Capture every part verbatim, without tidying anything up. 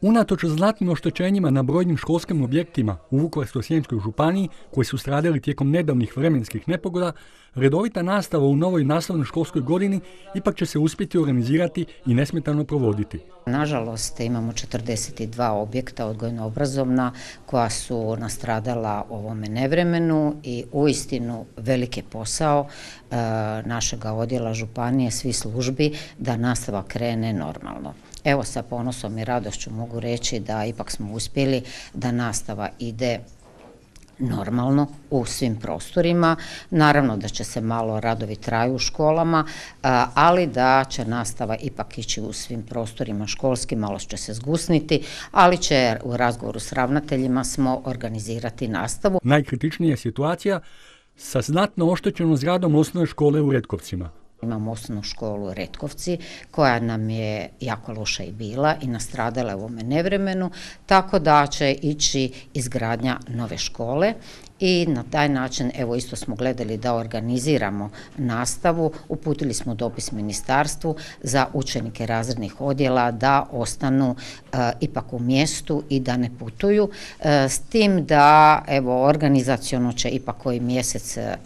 Unatoč znatnim oštećenjima na brojnim školskim objektima u Vukovarsko-srijemskoj županiji koji su stradali tijekom nedavnih vremenskih nepogoda, redovita nastava u novoj naslovnoj školskoj godini ipak će se uspjeti organizirati i nesmetano provoditi. Nažalost, imamo četrdeset dva objekta odgojno-obrazovna koja su nastradala ovome nevremenu i uistinu veliki posao e, našega odjela županije, svih službi da nastava krene normalno. Evo, sa ponosom i radošću mogu reći da ipak smo uspjeli da nastava ide normalno u svim prostorima. Naravno da će se malo radovi traju u školama, ali da će nastava ipak ići u svim prostorima školskim, malo će se zgusniti, ali će u razgovoru s ravnateljima smo organizirati nastavu. Najkritičnija je situacija sa znatno oštećenom zgradom osnovne škole u Retkovcima. Imamo osnovnu školu Retkovci koja nam je jako loša i bila i nastradala u ovome nevremenu, tako da će ići izgradnja nove škole i na taj način, evo isto smo gledali da organiziramo nastavu, uputili smo dopis ministarstvu za učenike razrednih odjela da ostanu e, ipak u mjestu i da ne putuju, e, s tim da evo organizaciono će ipak koji mjesec e,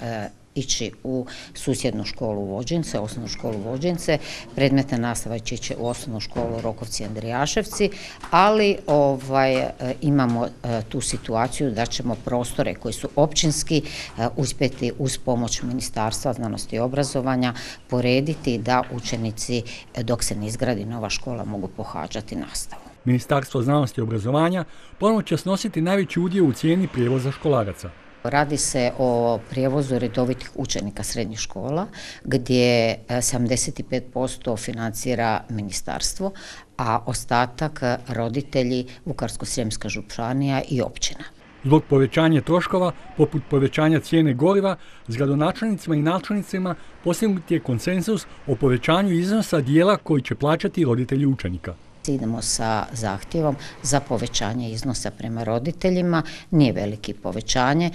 ići u susjednu školu Vođince, osnovnu školu Vođince, predmetna nastava će ići u osnovnu školu Rokovci Andrijaševci, ali ovaj, imamo e, tu situaciju da ćemo prostore koji su općinski e, uspjeti uz pomoć Ministarstva znanosti i obrazovanja porediti da učenici dok se ne izgradi nova škola mogu pohađati nastavu. Ministarstvo znanosti i obrazovanja ponovno će snositi najveći udio u cijeni prijevoza školaraca. Radi se o prijevozu redovitih učenika srednjih škola gdje sedamdeset pet posto financira ministarstvo, a ostatak roditelji Vukovarsko-srijemska županija i općina. Zbog povećanja troškova, poput povećanja cijene goriva, s gradonačelnicima i načelnicima postignut je konsenzus o povećanju iznosa dijela koji će plaćati roditelji učenika. Idemo sa zahtjevom za povećanje iznosa prema roditeljima, nije veliki povećanje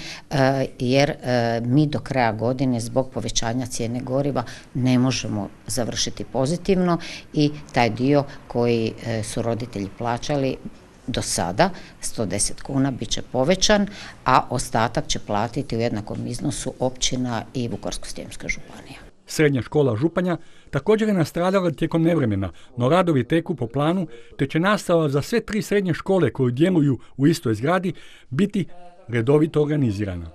jer mi do kraja godine zbog povećanja cijene goriva ne možemo završiti pozitivno i taj dio koji su roditelji plaćali do sada, sto deset kuna, bit će povećan, a ostatak će platiti u jednakom iznosu općina i Vukovarsko-srijemska županija. Srednja škola Županja također je nastradala tijekom nevremena, no radovi teku po planu, te će nastava za sve tri srednje škole koje djeluju u istoj zgradi biti redovito organizirana.